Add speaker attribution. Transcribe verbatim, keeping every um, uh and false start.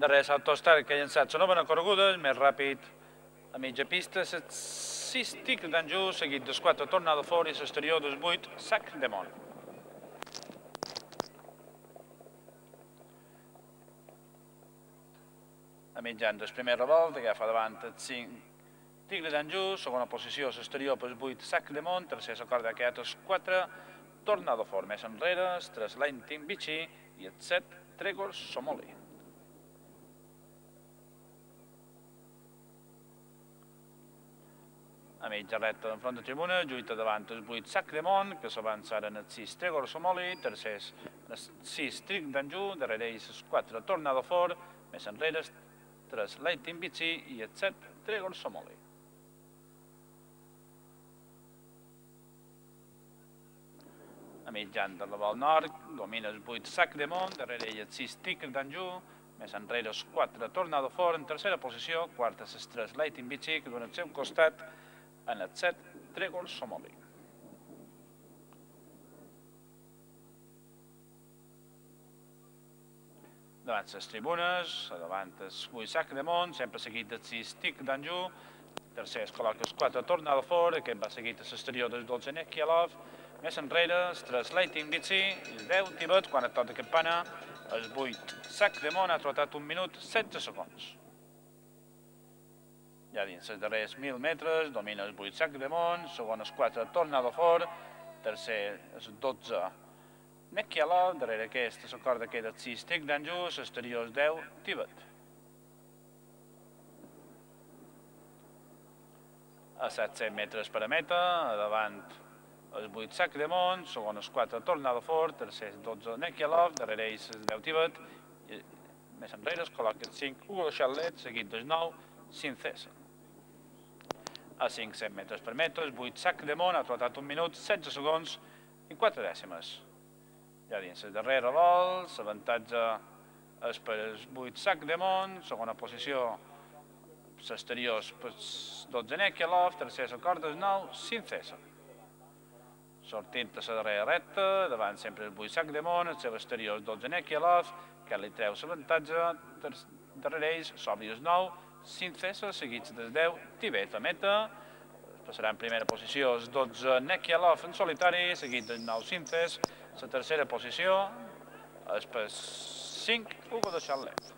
Speaker 1: Darrere l'Autostar que ha llançat la nova correguda, més ràpid a mitja pista, els sis Tigre d'Anjou, seguit dels quatre Tornado Fort i l'exterior dels vuit Sac de Mont. A mitjan del primer revolt, agafa davant els cinc Tigre d'Anjou, segona posició l'exterior pels vuit Sac de Mont, tercer la corda que ha els quatre Tornado Fort, més enrere, els tres Lightning Vichy i els set Tregor Somoli. A mitja recta d'enfront de tribuna, lluita davant els vuit Sac de Mont, que s'avançaren els sis Tregor Somoli, tercers els sis Tigre d'Anjou, darrere ells els quatre Tornado Fort, més enrere els tres Lightning Vichy i els set Tregor Somoli. A mitjan de la Vol Nord, domina els vuit Sac de Mont, darrere ell els sis Tigre d'Anjou, més enrere els quatre Tornado Fort, en tercera posició, quarta els tres Lightning Vichy, que donen al seu costat en els set Tregor Somoli. Davant les tribunes, davant els vuit Sac de Mont, sempre seguit dels sis Tigre d'Anjou, tercer es col·loca els quatre Tornado Fort, aquest va seguit a l'exterior del dotze Nekialov, més enrere, els tres Lightning Vichy i els deu Tibet, quan et toca campana, els vuit Sac de Mont ha trotat un minut setze segons. Ja dins els darrers mil metres, domina els vuit Sac de Mont, segon els quatre Tornado Fort, tercer els dotze Nekialov, darrere aquesta la corda queda els sis Tigre d'Anjou, l'exterior els deu Tibet. A set-cents metres per a meta, davant els vuit Sac de Mont, segon els quatre Tornado Fort, tercer els dotze Nekialov, darrere ells els deu Tibet, i més enrere es col·loca els cinc Hugo Charlet, seguit dels nou Cincesa. A cinc-cents metres per metre, els vuit Sac de Mont ha trotat un minut, setze segons i quatre dècimes. Ja dins el darrer revolt, l'avantatge és per els vuit Sac de Mont, segona posició l'exterior per dotze Nekialov, tercer la corda els nou Cincesa. Sortint a la darrera recta, davant sempre el vuit Sac de Mont, el seu exterior el dotze Nekialov, que li treu l'avantatge, darrere ells s'obri els nou Cincesa, seguits dels deu Tibet. A meta passarà en primera posició els dotze Nekialov en solitari, seguit dels nou Cincesa. La tercera posició és per cinc Hugo de Charlet.